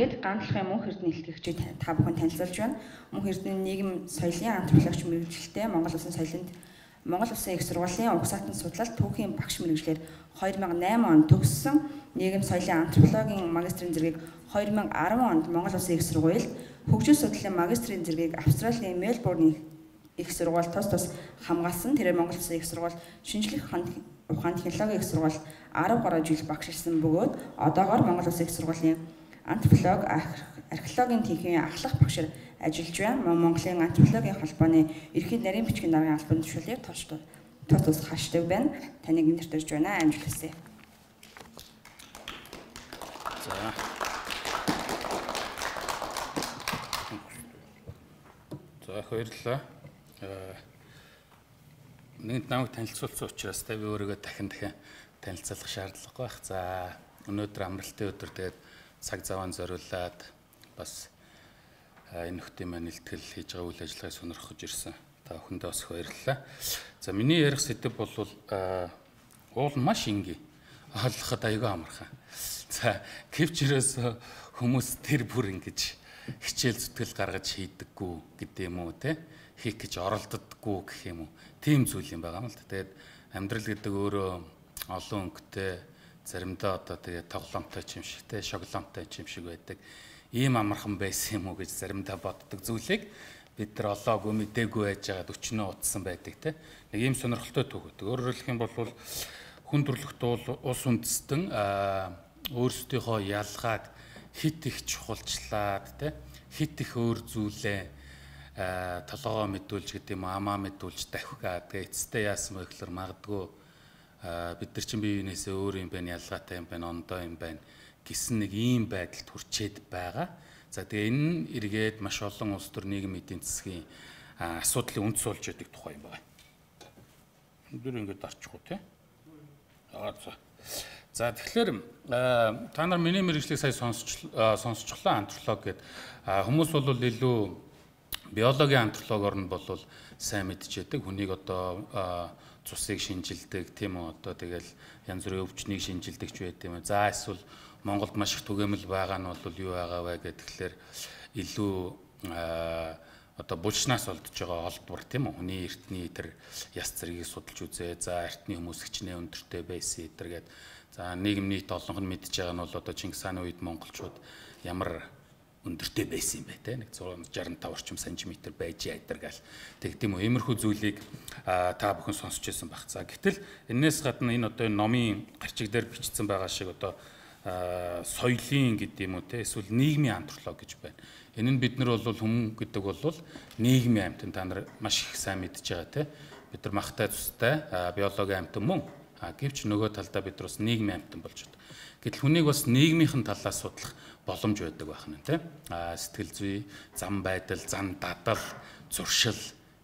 тэгээд ганцлахын мөнх эрдэнэ илтгэгчид та бүхэн танилцуулж байна. Мөнх эрдэнэ нийгэм соёлын антропологч мэргэжилтэй Монгол Улсын соёлын Монгол Улсын их сургуулийн угсаатан судлалт түүхийн багш мэргэжлэр 2008 онд төгссөн нийгэм соёлын антропологийн магистрийн зэргийг 2010 онд Монгол Улсын их сургуульд хөгжил судлалын магистрийн зэргийг Австралийн Мельбурний их сургууль тус хамгаалсан. Тэрээр Монгол Улсын их сургууль шинжлэх ухаан технологийн их сургууль 13 жил багшилсан бөгөөд одоогоор Монгол Улсын их сургуулийн антрополог археологийн тэнхимийн ахлах багшаар ажиллаж байна. Монголын антропологийн холбооны ерхий нарийн бичгийн даргын албан тушаалыг тус хашдаг байна. Таныг нэртэрж байна. Амжилт хүсье. За баярлалаа. Нэгд намайг танилцуулсан учраас би өөрийгөө дахин танилцуулах шаардлагагүй байх. За өнөөдөр амралтын өдөр тэгээд цаг заваа зориулаад бас энэ нөхдийн маань илтгэл хийж байгаа үйл ажиллагааг сонирхож ирсэн. Та бүхэндээ бас баярлалаа. За миний ярих сэдэв бол уул маш энгийн. Ойлгоход аюул амархан. За гэвчээрээс хүмүүс тэр бүр ингэж хичээл зүтгэл гаргаж хийдэггүй гэдэг юм уу те? Хийх гэж оролддоггүй гэх юм уу? Тийм зүйл юм байгаа юм л да. Тэгээд амьдрал гэдэг өөрөө олон өнгөтэй, заримдаа одоо тэгээд тоглоомтой юм шиг те, шоколадтай юм шиг байдаг. Ийм амархан байсан юм уу гэж заримдаа боддог зүйлийг бид нар олоогүй мэдээгүй байж байгаад өчнөө утсан байдаг те. Нэг ийм сонирхолтой төгөөд. Өөрөөр хэлэх юм бол хүн төрлөختөө ус үндэстэн өөрсдийнхөө ялгааг хит их чухалчлаад те, хит их өөр зүйлээ толгоо мэдүүлж гэдэг юм амаа мэдүүлж давхиад тэгээ эцэстээ яасан бэ гэхээр магадгүй бид нар чинь бие биенээсээ өөр юм байна, ялгаатай юм байна, ондоо юм байна гэсэн нэг ийм байдалд хүрчээд байгаа. За тэгээ энэ нь эргээд маш олон улс төр нийгмийн эдийн засгийн асуудлын үнд суулж яадаг тухай юм байна. Өндөр ингэж дарчихгүй тий. За тэгэхээр та нар миний мэргэжлийг сая сонсчлаа антрополог гэдэг хүмүүс бол илүү биологийн антропологоор нь бол сайн мэдчихэдэг. Хүнийг одоо цусыг шинжилдэг тийм үү, одоо тэгэл янз бүрийн өвчнийг шинжилдэг ч байт юм. За эсвэл Монголд маш их түгээмэл байгаа нь бол юу байгаа вэ гэхээр илүү одоо булчнаас олдож байгаа олдвор тийм үү. Хүний эртний тэр яс зэргийг судалж үзээ. За эртний хүмүүс хичнээн өндөртэй байсан эдэр гэдэг. За нийгэм нийт олонх нь мэдж байгаа нь бол одоо Чингис хааны үед монголчууд ямар өндөртэй байсан юм бэ те, нэг 165 орчим сантиметр байж ядэр гал тэг тийм үү. Иймэрхүү зүйлийг та бүхэн сонсч байсан баг. За гэтэл энэс гадна энэ одоо номын гарчиг дээр бичсэн байгаа шиг одоо соёлын гэдэг юм уу те, эсвэл нийгмийн антрополог гэж байна. Энэ нь бид нар бол хүн гэдэг бол нийгмийн амьтан, та нар маш их сайн мэдж байгаа те. Бид нар махтай цустай биологийн амьтан мөн. Гэвч нөгөө талдаа бид нар бас нийгмийн амьтан болж байна. Гэтэл хүнийг бас нийгмийнхэн талаас судлах боломж байдаг байх нь тийм. Сэтгэл зүй, зам байдал, зан дадал, зуршил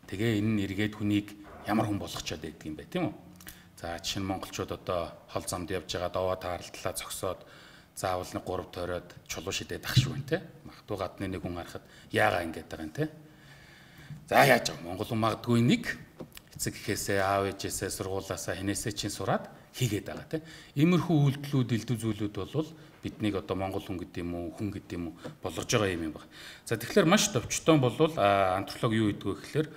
тэгээ энэ нь эргээд хүнийг ямар хүн болгочоод байдаг юм бэ тийм үү? За жишээ нь монголчууд одоо хол замд явж байгаа довоо тааралтлаа зогсоод заавал нэг 3 тойроод чулуу шидээд ах шүү тийм. Магадгүй гадны нэг хүн харахад яагаа ингэж байгаа юм тийм. За яаж байгаа монгол хүн магадгүй нэг эцэг гэхээсээ аав ээжээсээ сургуулаасаа хинээсээ чинь сураад хийгээд байгаа тийм. Иймэрхүү үйлдэлүүд, элдв зүйлүүд бол биднийг одоо монгол хүн гэдэг юм уу, хүн гэдэг юм уу болгож байгаа юм байна. За тэгэхээр маш товчтон бол антрополог юу гэдэг вэ гэхээр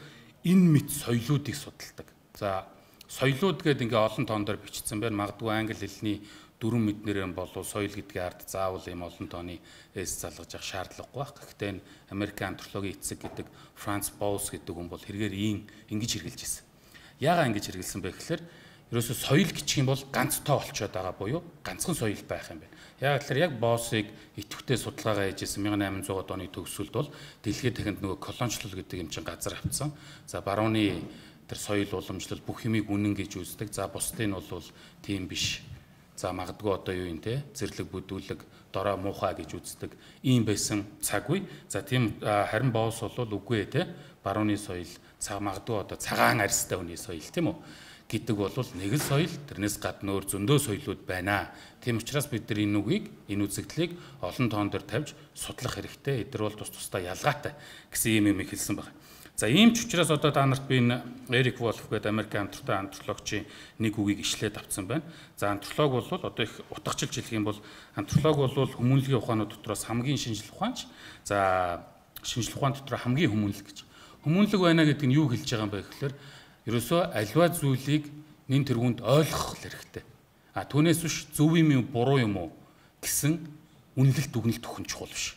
энэ мэд соёлоодыг судалдаг. За соёлууд гэдэг ингээ олон тоон дээр бичсэн байна. Магадгүй англи хэлний дөрвөн мэднээр нь бол соёл гэдгийн ард заавал ийм олон тооны эс залгаж явах шаардлагагүй байх. Гэхдээ энэ Америкийн антропологийн эцэг гэдэг Франц Боус гэдэг хүн бол хэрэгээр ингэж хэрэгжилж ирсэн. Яагаад ингэж хэрэгжилсэн бэ гэхээр ерөөсөө соёл гिचх юм бол ганц тоо болчиход байгаа буюу ганцхан соёл байх юм байна. Яг тэгэхээр яг Боосыг идэвхтэй судалгаагаа хийжсэн 1800-аад оны төгсөлд бол дэлхийд дахинд нөгөө колоничлол гэдэг юм чинь газар авцсан. За барууны тэр соёл уламжлал бүх юмыг үнэн гэж үздэг. За бусдыг нь бол тийм биш. За магадгүй одоо юу юм те зэрлэг бүдүүлэг дорой муухай гэж үздэг. Ийм байсан цаг үе. За тийм харин Боос бол үгүй те барууны соёл магадгүй одоо цагаан арьстай хүний соёл тийм үү гэдэг бол нэг л соёл, тэрнээс гадна өөр зөндөө соёлууд байна. Тийм учраас бид нар энэ үгийг, энэ үзэгдлийг олон тоон дээр тавьж судлах хэрэгтэй. Эдгээр бол тус тусдаа ялгаатай гэсэн юм хэлсэн байна. За ийм ч учраас одоо та нарт би энэ Эрик Волф гэдэг Америкийн антропологийн нэг үгийг ишлээд авсан байна. За антрополог бол одоо их утгачлж хэлэх юм бол антрополог бол хүмүүнлэгийн ухаанууд дотроос хамгийн шинжлэх ухаанч. За шинжлэх ухаан дотор хамгийн хүмүүнлэг гэж. Хүмүүнлэг байна гэдэг нь юу хэлж байгаа юм бэ гэхээр ерөөсөө аливаа зүйлийг нэн тэргуунд ойлгох хэрэгтэй. Түүнээс биш зөв юм уу буруу юм уу гэсэн үнэлэлт дүгнэлт өгөх нь чухал биш.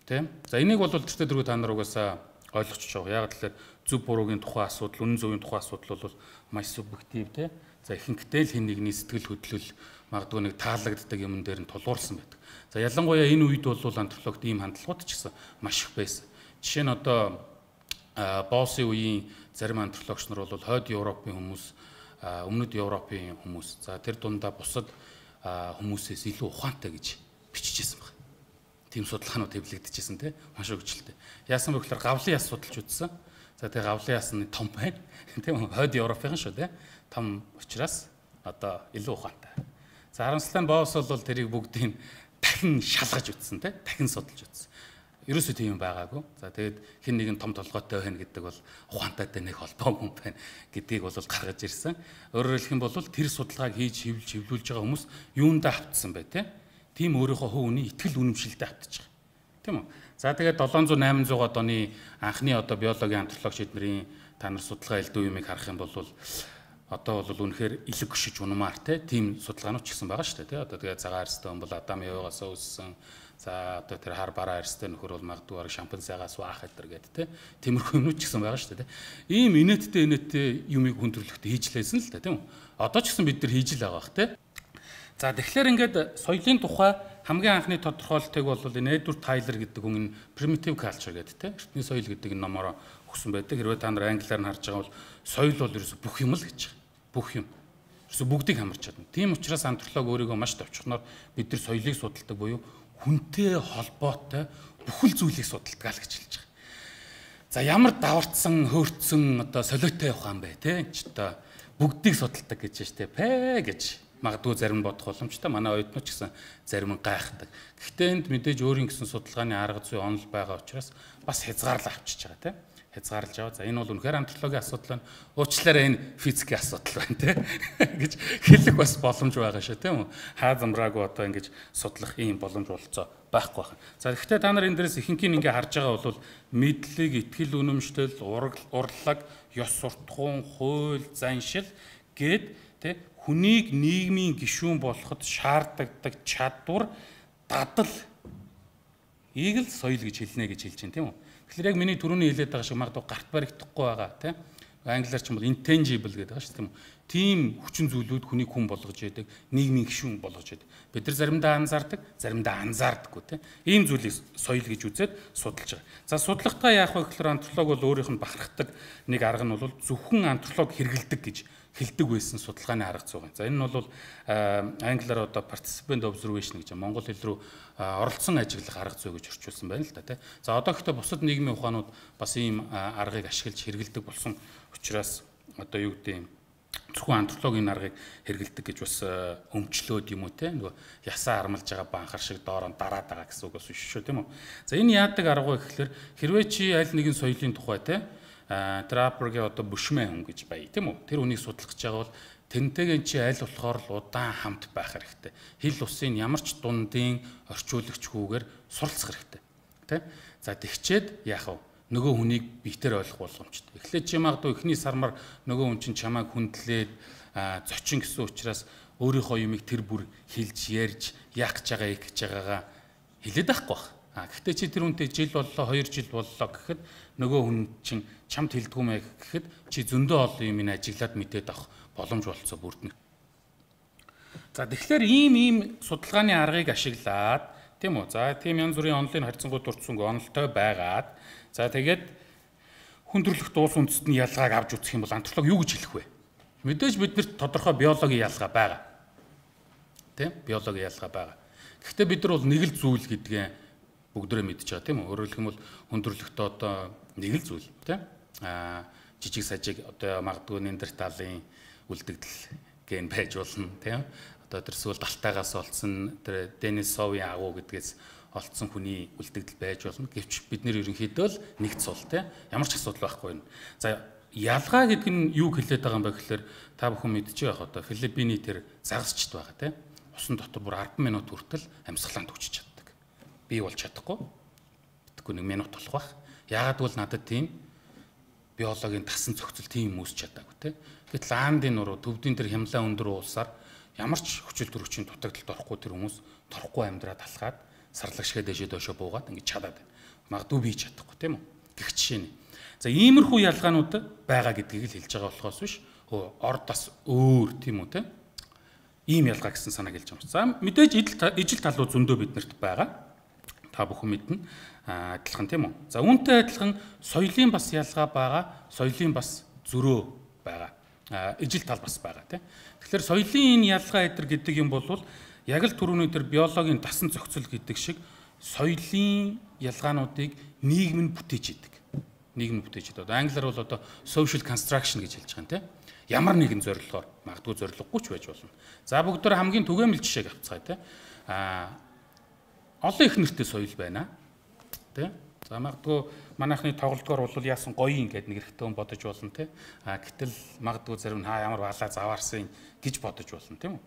Тийм. За энийг бол тэртээ дөрөв та нар угаасаа ойлгочих жоо. Яг л зөв буруугийн тухай асуудал, үнэн зөвийн тухай асуудал бол маш субъектив тийм. За ихэнхдээ л хэн нэгний сэтгэл хөдлөл магадгүй нэг таалагддаг юм дээр нь тулгуурласан байдаг. За ялангуяа энэ үед бол антропологт ийм хандлагууд ч гэсэн маш их байсан. Жишээ нь одоо Боссын үеийн зарим антропологч нар бол хойд Европын хүмүүс, өмнөд Европын хүмүүс, за тэр дундаа бусад хүмүүсээс илүү ухаантай гэж бичижсэн байна. Тийм судалгаанууд хэвлэгдэжсэн тийм маш хөгжилтэй. Яасан бэ гэхээр гавлын яс судалж үзсэн. За тэгээ гавлын яс нь том байна. Тийм хойд Европын шүү тийм. Том учраас одоо илүү ухаантай. За харамсалтай нь Босс бол тэрийг бүгдийг дахин шалгаж үзсэн тийм. Дахин судалж үзсэн. Ерөөсөө тийм юм байгаагүй. За тэгээд хэн нэгэн том толгойтой байна гэдэг бол ухаантайтай нэг холбоогүй юм байна гэдгийг бол гаргаж ирсэн. Өөрөөр хэлэх юм бол тэр судалгааг хийж хэвлүүлж байгаа хүмүүс юундаа автсан бай тийм өөрийнхөө хувь үний итгэл үнэмшилтэд автчих. Тийм үү? За тэгээд 700-800-аад оны анхны одоо биологийн антропологч эднэрийн та нар судалгаа элдв юмыг харах юм бол одоо бол үнэхээр илэг гүшиж унамаар тийм судалгаанууд ч гэсэн байгаа шүү дээ. Одоо тэгээд цагаан арьстай хүн бол Адам Евагаас үүссэн. За одоо тэр хар бараа арьстай нөхөр бол магадгүй шампанзегаас уух гэдэг те. Тиймэрхүү юмнууд ч гэсэн байгаа шүү дээ. Ийм инээдтэй юмыг хүн төрлөختөө хийж лээсэн л да тийм үү? Одоо ч гэсэн бид нар хийж л байгаа бах те. За тэгэхээр ингээд соёлын тухай хамгийн анхны тодорхойлолтыг бол энэ Эдвард Тайлер гэдэг хүн primitive culture гэдэг те. Эртний соёл гэдэг энэ номороо өгсөн байдаг. Хэрвээ та нар англиар нь харж байгаа бол соёл бол ерөөсө бүх юм л гэж байгаа. Бүх юм. Ерөөсө бүгдийг хамарч чадна. Тийм учраас антрополог өөрийгөө маш товчхоноор бид нар соёлыг судалдаг буюу хүнтэй холбоотой бүхэл зүйлийг судалдаг л гэж хэлж байгаа. За ямар давартсан, хөөрцөн одоо солиотой явах юм бэ те. Энд ч одоо бүгдийг судалдаг гэж штэ. Пэ гэж магадгүй зарим бодох боломжтой. Манай оюутнууд ч гэсэн зарим нь гайхдаг. Гэхдээ энд мэдээж өөрийн гэсэн судалгааны арга зүй онол байгаа учраас бас хязгаарлал авчиж байгаа тийм. Хязгаарлаж аваа. За энэ бол үнэхээр антропологийн асуудал байна. Уучлаарай энэ физикийн асуудал байна тийм гэж хэлэх бас боломж байгаа шүү тийм үү. Хаа замраагүй одоо ингэж судлах ийм боломж болцоо байхгүй байна. За гэхдээ та нар энэ дээрээс ихэнхийг ингээ харж байгаа бол мэдлэг, итгэл үнэмшил, урлаг, ёс суртахуун, хууль, заншил гээд тийм хүнийг нийгмийн гишүүн болоход шаардлагадаг чадвар, дадал ийг л соёл гэж хэлнэ гэж хэлж байна тийм үү. Тэгэхээр яг миний түрүүний хэлээд байгаа шиг магадгүй гарт баригдахгүй байгаа тийм. Англиар ч юм бол intangible гэдэг байгаа шүү тийм үү. Тийм хүчин зүйлүүд хүнийг хүн болгож яадаг, нийгмийн гишүүн болгож яадаг. Бид нар заримдаа анзаардаг, заримдаа анзаардаггүй тийм. Ийм зүйлийг соёл гэж үзээд судалж байгаа. За судалгаатаа яах вэ гэхээр антрополог бол өөрийнх нь бахархдаг нэг арга нь бол зөвхөн антрополог хэрэгэлдэг гэж хэлдэг байсан судалгааны арга зүй. За энэ нь бол англиар одоо participant observation гэж монгол хэл рүү оролцсон ажиглах арга зүй гэж орчуулсан байна л да тий. За одоо гэхдээ бусад нийгмийн ухаанууд бас ийм аргыг ашиглаж хэрэгэлдэг болсон учраас одоо юу гэдэг юм зөвхөн антропологийн аргыг хэрэгэлдэг гэж бас өмчлөөд юм уу тий. Нөгөө ясаа армалж байгаа банхар шиг доороо дараад байгаа гэсэн үг бас биш шүү тийм үү. За энэ яадаг арга вэ гэхээр хэрвээ чи аль нэгэн соёлын тухай тий Траппергийн одоо бүшмэн хүн гэж бай тийм үү. Тэр үнийг судлах гэж байгаа бол тэрнтэйгээ чи аль болохоор л удаан хамт байх хэрэгтэй. Хил усын ямар ч дундын орчуулагчгүйгээр суралцах хэрэгтэй. Тэ? За тэгчээд яах вэ? Нөгөө хүнийг битээр ойлгох боломжтой. Эхлээд чи магадгүй эхний сармаар нөгөө хүн чинь чамайг хүндлээд зочин гэсэн учраас өөрийнхөө юмыг тэр бүр хэлж ярьж яах гэж байгаа гэж байгаагаа хэлээд байхгүй байх. Гэхдээ чи тэр хүнтэй жил боллоо 2 жил боллоо гэхэд нөгөө хүн чинь чамд хэлдэггүй мэй гэхэд чи зөндөө олон юм ажиглаад мэдээд авах боломж болцоо бүрдэнэ. За тэгэхээр ийм судалгааны аргыг ашиглаад тийм үү. За тийм янз бүрийн онлайн харьцангуй дурдсанг онолтой байгаад за тэгээд хүн төрөлхтөн улс үндэст нь ялгааг авч үзэх юм бол антрополог юу гэж хэлэх вэ? Мэдээж биднэрт тодорхой биологийн ялгаа байгаа. Тийм биологийн ялгаа байгаа. Гэхдээ бид нар бол нэг л зүйл гэдгээ бүгдөө мэдж байгаа тийм үү. Өөрөөр хэлэх юм бол хүн төрөлхтөө одоо нэг л зүйл тийм. Жижиг сажиг одоо магадгүй Неандерталын үлдэгдэл ген байж болно тийм. Одоо тэр эсвэл далтайгаас олдсон тэр Денисовын агуу гэдгээс олдсон хүний үлдэгдэл байж болно. Гэвч бид нэр ерөнхийдөө л нэгд сул те ямар ч асуудал байхгүй юм. За ялгаа гэдэг нь юу хэлээд байгаа юм бэ гэхээр та бүхэн мэдчихэе яг одоо Филиппиний тэр загасчд байгаа те. Усан дотор бүр 10 минут хүртэл амьсгалаанд хүчиж чаддаг. Би бол чадахгүй. Тэгэхгүй 1 минут болох байх. Яагаад бол надад тийм биологийн тасан зохицол тийм үүсч чадаагүй те. Гэтэл аандын нуруу төвдийн тэр хямлаа өндөр уулсаар ямар ч хүчил төрөгчийн дутагдалд орохгүй тэр хүмүүс торхгүй амьдраад алхаад сарлагшгээ дэжээ доошо буугаад ингэж чадаад байна. Магадгүй би чадахгүй тийм үү? Гэх жишээ нь. За иймэрхүү ялгаанууд байгаа гэдгийг л хэлж байгаа болохоос биш. Орд бас өөр тийм үү те. Ийм ялгаа гэсэн санааг хэлж байгаа юм. За мэдээж ижил талууд зөндөө биднэрт байгаа. Та бүхэн мэднэ. Адилхан тийм үү? За үүнтэй адилхан соёлын бас ялгаа байгаа. Соёлын бас зөрөө байгаа. Ижил тал бас байгаа тийм. Тэгэхээр соёлын энэ ялгаа гэдэг юм бол яг л түрүүний тэр биологийн дасан зохицол гэдэг шиг соёлын ялгаануудыг нийгэм нь бүтээж идэг. Нийгэм нь бүтээж идэг. Англиар бол одоо social construction гэж хэлж байгаа юм тийм. Ямар нэгэн зорилгоор магадгүй зорилгогүй ч байж болно. За бүгдээр хамгийн түгээмэл жишээг авцгаая тийм. Олон их нэртэй соёл байна. Тийм. За магадгүй манайхны тоглолтгоор бол яасан гоё юм гэдэг нэг хэрэгтэй хүн бодож болно тийм. Гэтэл магадгүй зарим нь ямар балаа заваарсан гэж бодож болно тийм үү.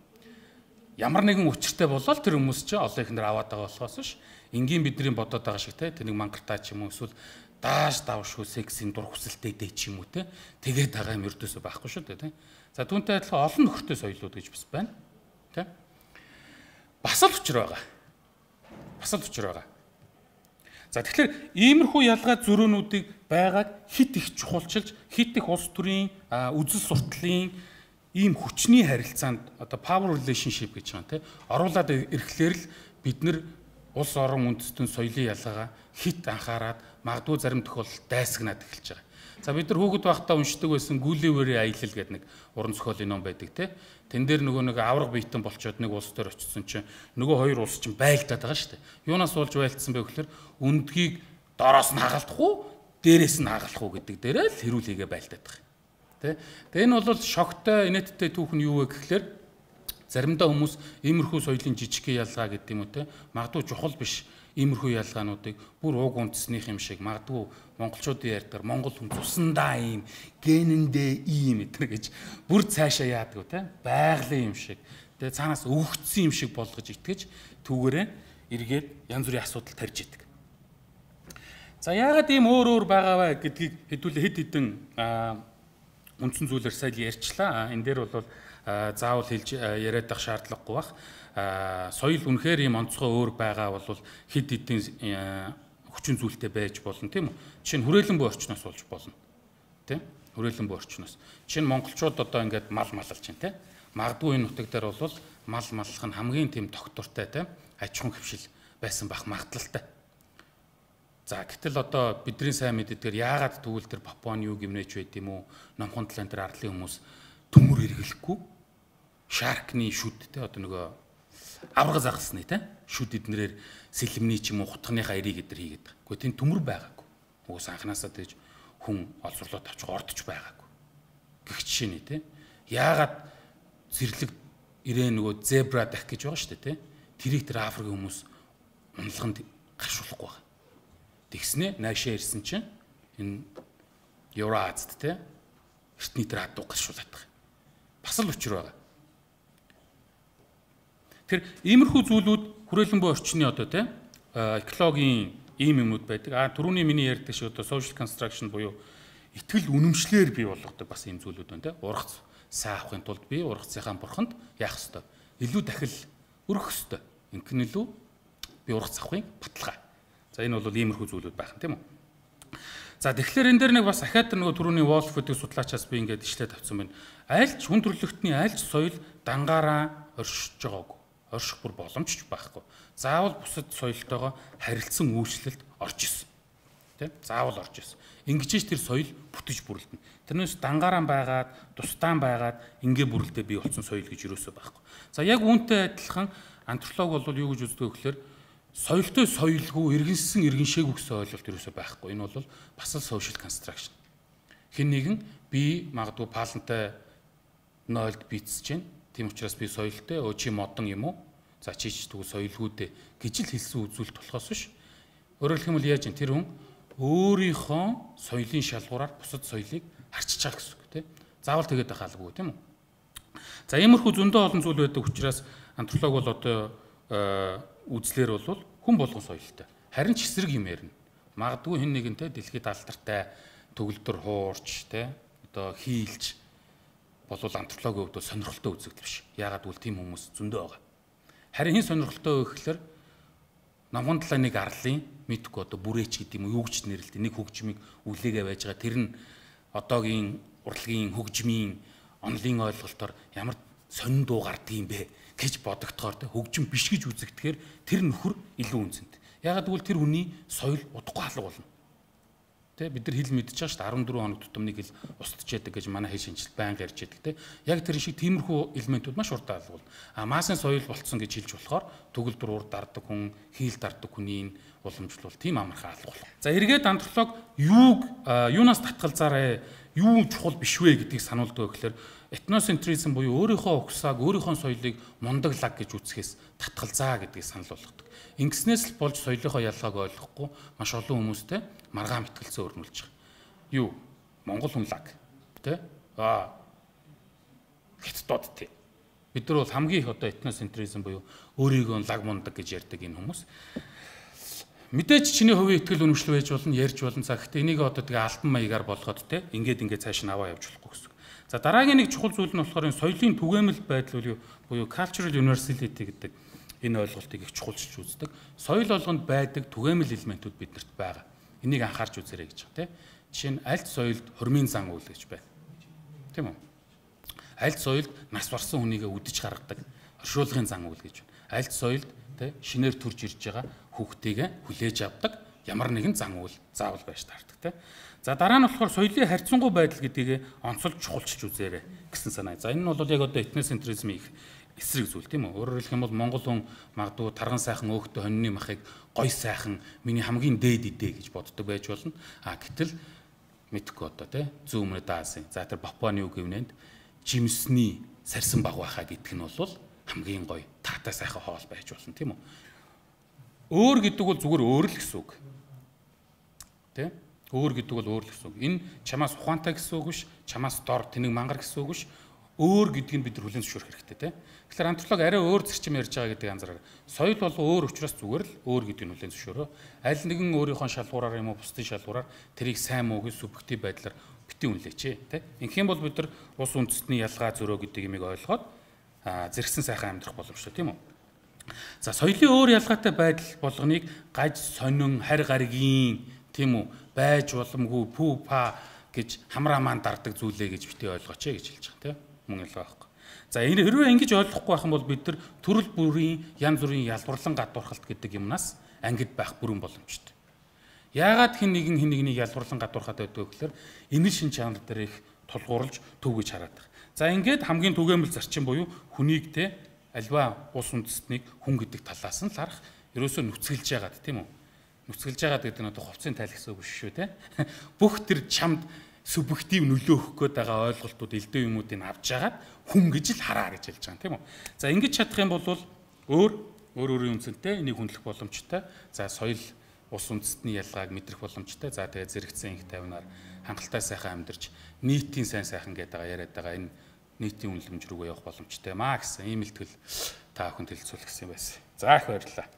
Ямар нэгэн учиртай болол тэр хүмүүс чинь олон ихнэр аваад байгаа болохоос ш. Энгийн бидний бодоод байгаа шиг тийм. Тэнийг мангартаа ч юм уу эсвэл дааш давшгүй сексийн дур хүсэлтэй дэ ч юм уу тийм. Тэгээд байгаа юм ердөөсөө байхгүй шүү дээ тийм. За түүнтэй адилхан олон нөхөртэй соёлууд гэж бас байна. Тийм. Бас л учир байгаа. Бас л учир байгаа. За тэгэхээр иймэрхүү ялгаа зөрөөнүүдийг байгааг хит их чухалчилж, хит их улс төрийн үзэл сурталын ийм хүчний харилцаанд одоо power relationship гэж байгаа тийм оруулаад ирэхлээр л бид нар улс орон үндэстэн соёлын ялгаагаа хит анхаарад магадгүй зарим тохиолдолд дайсагнаад эхэлж байгаа. За бид нар хүүхэд байхдаа уншдаг байсан Гүлэвэрийн аялал гэдэг нэг уран зохиолын ном байдаг тийм. Тэн дээр нөгөө нэг авраг биетэн болчоод нэг улс төр очсон чинь нөгөө хоёр улс чинь байлдаад байгаа шүү дээ. Юунаас болж байлдсан бэ гэхээр үндгийг дороос нь хагалдах уу, дээрээс нь хагалдах уу гэдэг дээрээ л хэрүүлээгээ байлдаад байгаа. Тэ. Тэгээ энэ бол шогтой инээдтэй түүх нь юу вэ гэхээр заримдаа хүмүүс иймэрхүү соёлын жижигхэн ялгаа гэдэг юм уу те магадгүй чухал биш иймэрхүү ялгаануудыг бүр уг үндэснийх юм шиг магадгүй монголчуудын ярьдгаар монгол хүн цусандаа ийм генэндээ ийм эдэр гэж бүр цаашаа яадаг те байгалийн юм шиг тэгээ цаанаас өгөгдсөн юм шиг болгож итгэж түүгээрээ эргээд янз бүрийн асуудал тарьж идэг. За яагаад ийм өөр байгаа вэ гэдгийг хэдүүлээ хэд хэдэн үндсэн зүйлээр сайн ярьчлаа. Энэ дээр бол заавал хэлж яриад байх шаардлагагүй бах. Соёл үнэхээр ийм онцгой өөр байгаа бол хэд хэдэн хүчин зүйлтэй байж болно тийм үү? Жишээ нь хүрээлэн буй орчноос болж болно. Тийм? Хүрээлэн буй орчноос. Жишээ нь монголчууд одоо ингээд мал малалж чинь тийм. Магадгүй энэ нутаг дээр бол мал маллах нь хамгийн тийм тогтвортой тийм аж ахуйн хөвшил байсан бах магадлалтай. За гэтэл одоо бидний сайн мэддгээр яагаад тэгвэл тэр Папуаны юу гимнэж байд юм уу? Номхон талын тэр арлын хүмүүс төмөр эргэлэхгүй шаркны шүд те одоо нөгөө авраг загасны те шүд эднэрээр сэлэмний ч юм уу хутганыхаа эрийг эдэр хийгээд байгаа. Гэхдээ тийм төмөр байгаагүй. Уус анханасаа тэгж хүн олзурлууд авч ордож байгаагүй. Гэх жишээ нь те. Яагаад зэрлэг ирээ нөгөө зебра дах гэж байгаа шүү дээ те. Тэрийг тэр Африкийн хүмүүс унлаганд гаршуулахгүй байгаа. Тэгснэ наашаа ирсэн чинь энэ Евразд те эртний тэр адуу гаршуулаад байгаа. Бас л учир байгаа. Тэр иймэрхүү зүйлүүд хүрээлэн буй орчны одоо те экологийн ийм юмуд байдаг. Түрүүний миний ярьдаг шиг одоо social construction буюу итгэл үнэмшлэр бий болгодог бас ийм зүйлүүд байна те. Ургац сайн авахын тулд би ургацынхаа бурханд яах ёстой? Илүү дахил өргөх ёстой. Ингэн илүү би ургац авахын баталгаа. За энэ бол иймэрхүү зүйлүүд байх юм тийм үү? За тэгэхээр энэ дээр нэг бас ахаад нөгөө түрүүний Wolf гэдэг судлаачаас би ингээд ишлээд авсан байна. Айлч хүн төрөлхтний айлч соёл дангаараа оршиж байгаагүй. Орших бүр боломжч байхгүй. Заавал бусад соёлтойгоо харилцсан үйлчлэлд орж исэн. Тийм? Заавал орж исэн. Ингэж тэр соёл бүтэж бүрлдэнэ. Тэрнээс дангаараа байгаад, тусдаан байгаад ингээ бүрлдээ бий болсон соёл гэж юусоо байхгүй. За яг үүнтэй адилхан антрополог бол юу гэж үздэг вэ гэхээр соёлтой соёлгүй иргэншсэн иргэншээгүй гэсэн ойлголт юусоо байхгүй. Энэ бол бас л social construction. Хэн нэгэн би магадгүй палантай нойлд бийцэж байна. Тийм учраас би соёлтой чи модон юм уу? За чич тэгвэл соёлгүйдээ гэж л хэлсэн үзүүлэлт болохоос биш. Өөрөөр хэлбэл яаж юм тэр хүн өөрийнхөө соёлын шалгуураар бусад соёлыг харьцаж байгаа гэсэн үг тийм. Заавал тэгээд байх албагүй тийм үү? За иймэрхүү зөндөө олон зүйл байдаг учраас антрополог бол одоо үзлэр бол хүн болгон соёлтой. Харин ч эсрэг юм ярина. Магадгүй хэн нэгэнтэй дэлхийд алдартай төгөлдөр хуурч те одоо хийлж болвол антропологийн хувьд сонирхолтой үзэгдэл биш. Яагаад гэвэл тийм хүмүүс зөндөө байгаа. Харин хин сонирхолтой вэ гэхээр намхан талаа нэг арлын мэдгүй одоо бүрээч гэдэг юм уу юу гэж нэрлэдэг нэг хөгжмийг үлээгээ байж байгаа. Тэр нь одоогийн урлагийн хөгжмийн онлын ойлголтоор ямар сонин дуу гардаг юм бэ гэж бодогдохоор хөгжим биш гэж үзэгдэхээр тэр нөхөр илүү үнцэнтэй. Яагаад гэвэл тэр хүний соёл удахгүй алга болно. Тэ бид нар хэл мэдчихэж байгаа шүү дээ 14 хоног тутам нэг хэл устж яадаг гэж манай хэл шинжилт байнга ярьж яадаг те. Яг тэр шиг тиймэрхүү элементүүд маш уртаа алга болно. Маасын соёл болцсон гэж хэлж болохоор төгөлдөр урд дарддаг хүн, хийл дарддаг хүний уламжлал тийм амархан алга болно. За эргээд антрополог юунаас татгалзаарэ, юу чухал биш вэ гэдгийг сануулдаг гэхээр этноцентризм буюу өөрийнхөө угсааг, өөрийнхөө соёлыг мундаглаг гэж үзэхээс татгалзаа гэдгийг санал болгодог. Ингэснээс л болж соёлынхоо ялгааг ойлгохгүй маш олон хүмүүстэй маргаан мэтгэлцээ өрнүүлж байгаа. Юу? Монгол хүн лаг. Тэ? Хятадууд тий. Бид нар бол хамгийн их одоо этноцентризм буюу өөрийгөө лаг мундаг гэж ярьдаг энэ хүмүүс. Мэдээж чиний хувийн итгэл үнэмшил байж болно, ярьж болно. За гэхдээ энийг одоо тэгээ альбан маягаар болгоод те ингээд цааш нь аваа явж болохгүй гэсэн. За дараагийн нэг чухал зүйл нь болохоор энэ соёлын түгээмэл байдал буюу cultural universality гэдэг энэ ойлголтыг их чухалчилж үздэг. Соёл болгонд байдаг түгээмэл элементүүд биднэрт байгаа. Энийг анхаарч үзээрэй гэж байна те. Жишээ нь альт соёлд хормын зан үйл гэж байна. Тийм үү? Альт соёлд нас барсан хүнийгээ үдэж гаргадаг оршуулгын зан үйл гэж байна. Альт соёлд те шинээр төрж ирж байгаа хүүхдийгээ хүлээж авдаг ямар нэгэн зан үйл заавал байж таардаг те. За дараа нь болохоор соёлын харьцангуй байдал гэдгийг онцолж чухалчилж үзээрэй гэсэн санаа. За энэ нь бол яг одоо этноцентризмын их эсрэг зүйл тийм үү. Өөрөөр хэлэх юм бол монгол хүн магадгүй тарган сайхан өөхтө хоньны махыг гой сайхан миний хамгийн дээд идэ гэж боддог байж болно. Гэтэл мэдхгүй одоо тий зүүн өмнөд Азийн. За тэр Папуаны үг гівнэнд жимсний сарсан баг байхаа гэдг нь бол хамгийн гоё таатай сайхан хоол байж болно тийм үү. Өөр гэдэг бол зүгээр өөр л гэсэн үг. Тэ? Өөр гэдэг бол өөр л гэсэн үг. Энэ чамаас ухаантай гэсэн үг биш, чамаас дор тэнэг мангар гэсэн үг биш. Өөр гэдгийг бид нар хүлээн зөвшөөрөх хэрэгтэй тийм. Тэгэхээр антрополог арай өөр зарчим ярьж байгаа гэдэг анзаараа. Соёл бол өөр учраас зүгээр л өөр гэдгийг хүлээн зөвшөөрөө. Аль нэгэн өөрийнхөө шалгуураар юм уу бусдын шалгуураар тэрийг сайн муу гэж субъектив байдлаар битгий үнэлээч тийм. Ингэх юм бол бид нар ус үндэстний ялгаа зөрөө гэдэг юмыг ойлгоод зэрэгсэн сайхан амьдрах боломжтой тийм үү. За соёлын өөр ялгаатай байдал болгоныг гаж сонин харь гаригийн тийм үү байж боломгүй пүү па гэж хамраамаан дардаг зүйлээ гэж битгий ойлгооч гэж хэлж байгаа тийм. Мөн ялгаа байхгүй. За энэ хэрвээ ингэж ойлгохгүй байх юм бол бид нар төрөл бүрийн янз бүрийн ялбарлан гадуурхалт гэдэг юмнаас ангид байх бүрэн боломжтой. Яагаад хин нэгнийг ялбарлан гадуурхаад байдаг вэ гэхээр энэ шин чанар дээр их тулгуурлаж төв гэж хараад байгаа. За ингээд хамгийн түгээмэл зарчим буюу хүнийг те альва ус үндэстнийг хүн гэдэг талаас нь л харах ерөөсөө нүцгэлж яагаад тийм үү? Нүцгэлж яагаад гэдэг нь одоо хувцсын тайл гэсэн үг шүү те. Бүх тэр чамд субъектив нөлөөлөх гээд байгаа ойлголтууд элдв юмуудыг авч жагаад хүн гэж л хараа гэж хэлж байгаа тийм үү. За ингэж чадах юм бол өөрийн үнцэнтэй энийг хүндлэх боломжтой. За соёл ус үндэстний ялгааг мэдрэх боломжтой. За тэгээ зэрэгцэн их тавинаар хангалттай сайхан амьдарч нийтийн сайн сайхан гэдэг яриад байгаа энэ нийтийн үнэлэмж рүүгээ явах боломжтой маа гэсэн ийм илтгэл та бүхэнд хэлцүүлэх гэсэн юм байсан. За их баярлалаа.